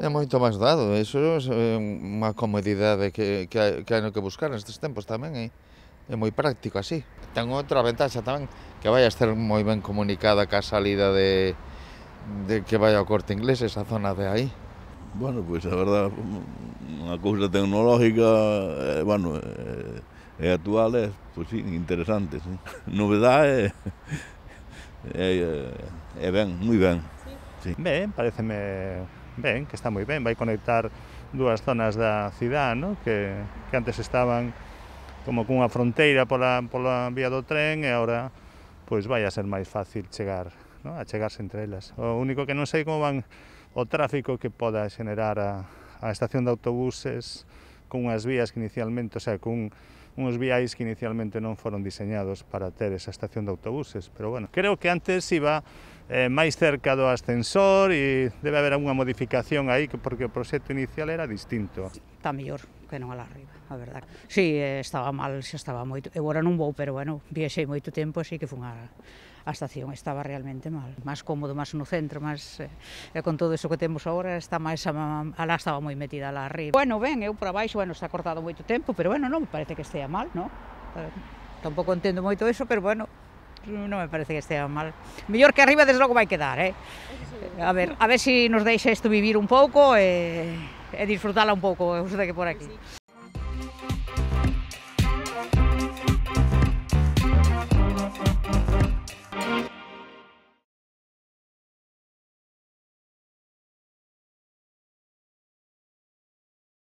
É moito máis dado, iso é unha comodidade que hai no que buscar nestes tempos tamén, é moi práctico así. Ten outra ventaxa tamén, que vai a estar moi ben comunicada ca salida de que vai ao Corte Inglés, esa zona de aí. Bueno, pois a verdad, unha cousa tecnológica, bueno, e actual é, pois sí, interesante, sí. Novedade é ben, moi ben. Sí. Ben, pareceme ben, que está moi ben, vai conectar dúas zonas da cidade, no? que antes estaban como cunha fronteira pola vía do tren e agora pois vai a ser máis fácil chegar, no? A chegarse entre elas. O único que non sei como van o tráfico que poda xenerar a estación de autobuses con unhas vías que inicialmente, o sea, con uns viais que inicialmente non foron diseñados para ter esa estación de autobuses, pero bueno, creo que antes iba máis cerca do ascensor e debe haber unha modificación aí porque o proxecto inicial era distinto. Está mellor que non alá arriba, a verdade. Si, estaba mal, xa estaba moito. Eu agora non vou, pero bueno, viaxei moito tempo, así que fun a estación, estaba realmente mal. Máis cómodo, máis no centro, máis con todo iso que temos agora, está máis alá estaba moi metida alá arriba. Bueno, ben, eu por abaixo, bueno, está cortado moito tempo, pero bueno, non me parece que estea mal, non? Tampouco entendo moito iso, pero bueno, non me parece que estea mal. Mellor que arriba, desde logo vai quedar, A ver se nos deixa isto vivir un pouco e disfrutala un pouco, os de que por aquí.